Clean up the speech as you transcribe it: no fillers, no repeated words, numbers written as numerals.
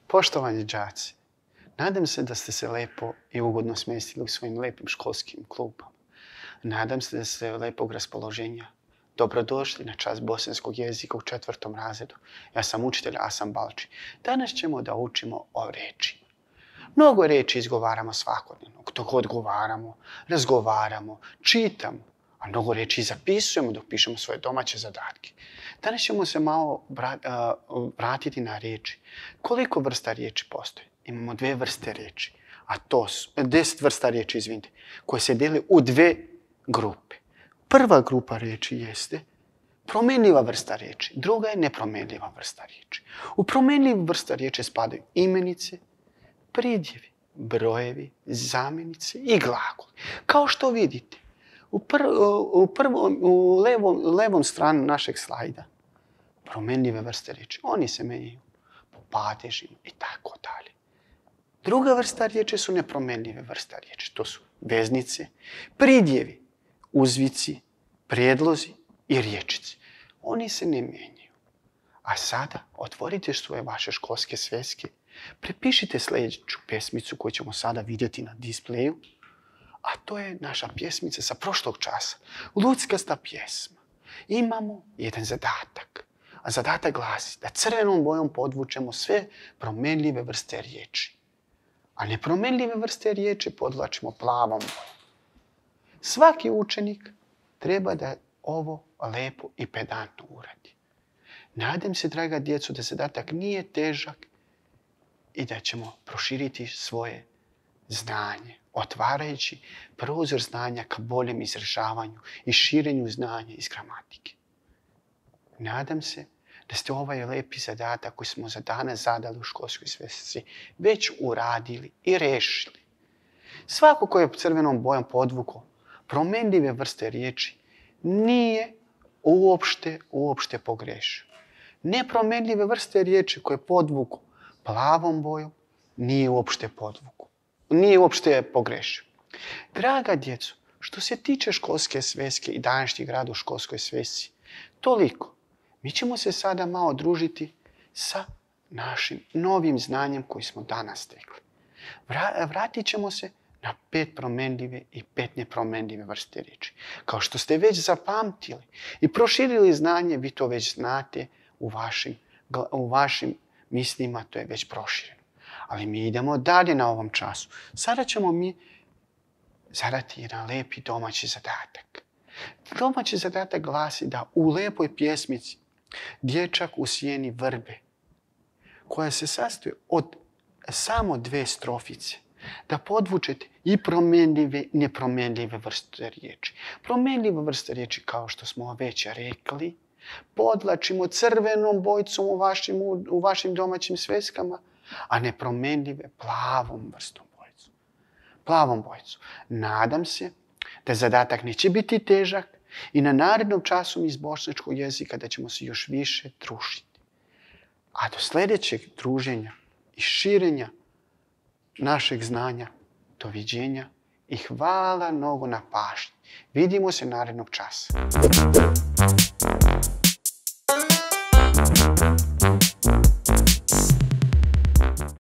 Poštovani đaci, nadam se da ste se lepo i ugodno smjestili u svojim lepim školskim klupama. Nadam se da ste lepog raspoloženja. Dobrodošli na čas bosanskog jezika u 4. razredu. Ja sam učitelj Asan Balči. Danas ćemo da učimo o rečima. Mnogo reči izgovaramo svakodnevno. Dok odgovaramo, razgovaramo, čitamo, a mnogo reči zapisujemo dok pišemo svoje domaće zadatke. Danas ćemo se malo vratiti na riječi. Koliko vrsta riječi postoji? Imamo 2 vrste riječi, a to su 10 vrsta riječi, izvinite, koje se dijele u 2 grupe. Prva grupa riječi jeste promjenljiva vrsta riječi, druga je nepromjenljiva vrsta riječi. U promjenljivu vrsta riječi spadaju imenice, pridjevi, brojevi, zamjenice i glagoli. Kao što vidite, u levom stranu našeg slajda promjenljive vrste riječi. Oni se menjaju po padežima i tako dalje. Druga vrsta riječi su nepromjenljive vrste riječi. To su veznice, pridjevi, uzvici, prijedlozi i riječice. Oni se ne mijenjaju. A sada otvorite svoje vaše školske sveske, prepišite sljedeću pjesmicu koju ćemo sada vidjeti na displeju, a to je naša pjesmica sa prošlog časa, Luckasta pjesma. Imamo jedan zadatak, a zadatak glasi da crvenom bojom podvučemo sve promjenljive vrste riječi, a nepromjenljive vrste riječi podvlačimo plavom bojom. Svaki učenik treba da ovo lepo i pedantno uradi. Nadam se, draga djeco, da zadatak nije težak i da ćemo proširiti svoje znanje, otvarajući prozor znanja ka boljem izražavanju i širenju znanja iz gramatike. Nadam se da ste ovaj lepi zadatak koji smo za danas zadali u školskoj svesci već uradili i rešili. Svako ko je crvenom bojom podvukao promjenljive vrste riječi nije uopšte pogrešio. Nepromjenljive vrste riječi koje podvuku plavom bojom nije uopšte pogrešio. Draga djeco, što se tiče školske sveske i današnjeg rada u školskoj svesci, toliko. Mi ćemo se sada malo družiti sa našim novim znanjem koji smo danas stekli. Vratit ćemo se na 5 promjenljive i 5 nepromjenljive vrste riječi. Kao što ste već zapamtili i proširili znanje, vi to već znate u vašim mislima, to je već prošireno. Ali mi idemo dalje na ovom času. Sada ćemo mi zadati jedan lepi domaći zadatak. Domaći zadatak glasi da u lepoj pjesmici Dječak u sjeni vrbe, koja se sastoji od samo 2 strofice, da podvučete i promjenljive i nepromjenljive vrste riječi. Promjenljive vrste riječi, kao što smo već rekli, podvlačimo crvenom bojicom u vašim domaćim sveskama, a nepromjenljive plavom vrstom bojicom. Plavom bojicom. Nadam se da zadatak neće biti težak i na narednom času iz bošnjačkog jezika da ćemo se još više družiti. A do sljedećeg druženja i širenja našeg znanja, doviđenja i hvala mnogo na pažnji. Vidimo se narednog časa.